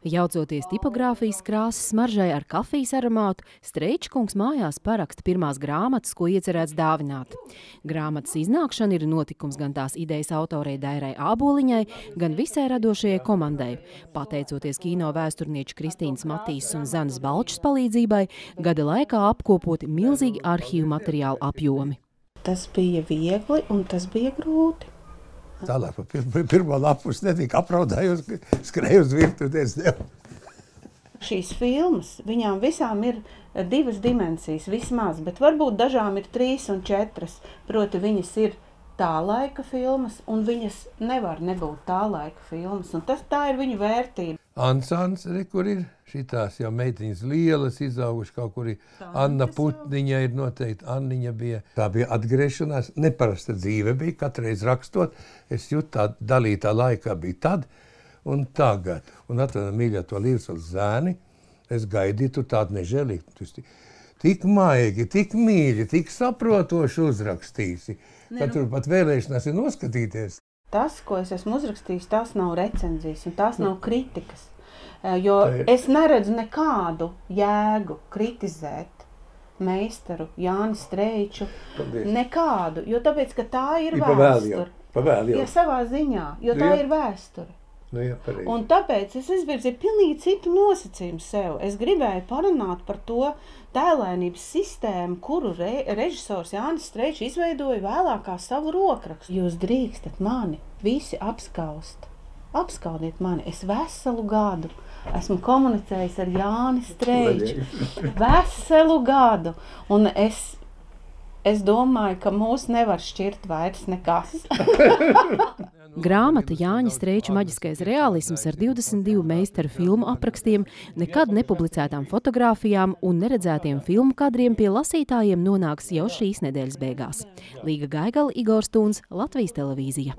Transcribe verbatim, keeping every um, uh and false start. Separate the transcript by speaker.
Speaker 1: Jaucoties tipogrāfijas krāsas smaržai ar kafijas aromātu, Streičkungs mājās paraksta pirmās grāmatas, ko iecerēts dāvināt. Grāmatas iznākšana ir notikums gan tās idejas autorei Dairai Āboliņai, gan visai radošajai komandai. Pateicoties kino vēsturnieču Kristīnas Matīsas un Zanes Balčas palīdzībai, gada laikā apkopoti milzīgi arhīvu materiālu apjomi.
Speaker 2: Tas bija viegli un tas bija grūti.
Speaker 3: Tālāk pa pir pirmo lapus netika apraudājos, skrēju uz virtuves.
Speaker 2: Šīs filmas, viņām visām ir divas dimensijas vismaz, bet varbūt dažām ir trīs un četras. Proti viņas ir tā laika filmas, un viņas nevar nebūt tā laika filmas, un tas tā ir viņu vērtība.
Speaker 3: Ansans, re, kur ir šitās jau meitiņas lielas, izauguši kaut kur ir. Anna Putniņa ir noteikti, Anniņa bija. Tā bija atgriešanās, neparasta dzīve bija, katreiz rakstot. Es jūtu tā dalītā laikā bija tad un tagad. Un atvedam mīļā to Līvsvalas zēni, es gaidīju, tu tādu nežēlīgi. Tik maigi, tik mīļi, tik saprotoši uzrakstīsi, ka tur pat vēlēšanās ir noskatīties.
Speaker 2: Tas, ko es esmu uzrakstījis, tās nav recenzijas un tās nav kritikas. Jo es neredzu nekādu jēgu kritizēt meistaru Jāni Streiču. Nekādu, jo tāpēc, ka tā ir vēsture. Ja savā ziņā, jo tā ir vēsture.
Speaker 3: Nu, jā,
Speaker 2: un tāpēc es izvirzīju pilnīgi citu nosacījumu sev. Es gribēju parunāt par to tēlainības sistēmu, kuru re, režisors Jānis Streičs izveidoja vēlāk kā savu rokrakstu. Jūs drīkstat mani visi apskaust. Apskaudiet mani. Es veselu gadu esmu komunicējis ar Jāni Streiču. Veselu gadu. Un es, es domāju, ka mūs nevar šķirt vairs nekas.
Speaker 1: Grāmata Jāņa Streiča maģiskais realisms ar divdesmit divu meistaru filmu aprakstiem, nekad nepublicētām fotogrāfijām un neredzētiem filmu kadriem pie lasītājiem nonāks jau šīs nedēļas beigās. Līga Gaigala, Igors Tūns, Latvijas televīzija.